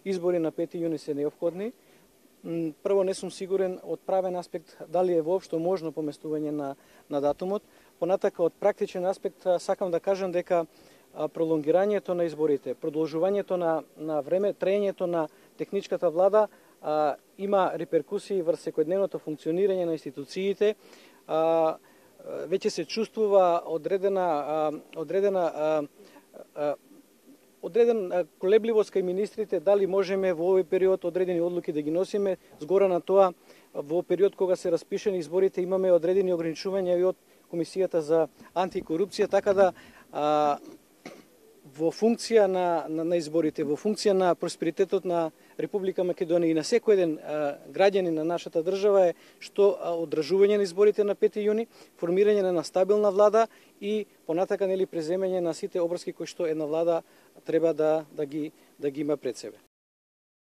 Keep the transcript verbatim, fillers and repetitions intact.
избори на пети јуни се неопходни. Прво, не сум сигурен од правен аспект дали е воопшто можно поместување на, на датумот. Понатака, од практичен аспект, сакам да кажам дека пролонгирањето на изборите, продолжувањето на, на време, траењето на техничката влада а, има реперкусии врз секојдневното функционирање на институциите. А, веќе се чувствува одредена, а, одредена а, а, одреден колебливост кај министрите дали можеме во овој период одредени одлуки да ги носиме. Згора на тоа, во период кога се распишени изборите имаме одредени ограничувања и од Комисијата за антикорупција, така да а, во функција на, на, на изборите, во функција на просперитетот на Република Македонија и на секој еден а, граѓанин на нашата држава е што а, одржување на изборите на пети јуни, формирање на стабилна влада и понатака нели преземање на сите обврски кои што една влада треба да да ги да ги има пред себе.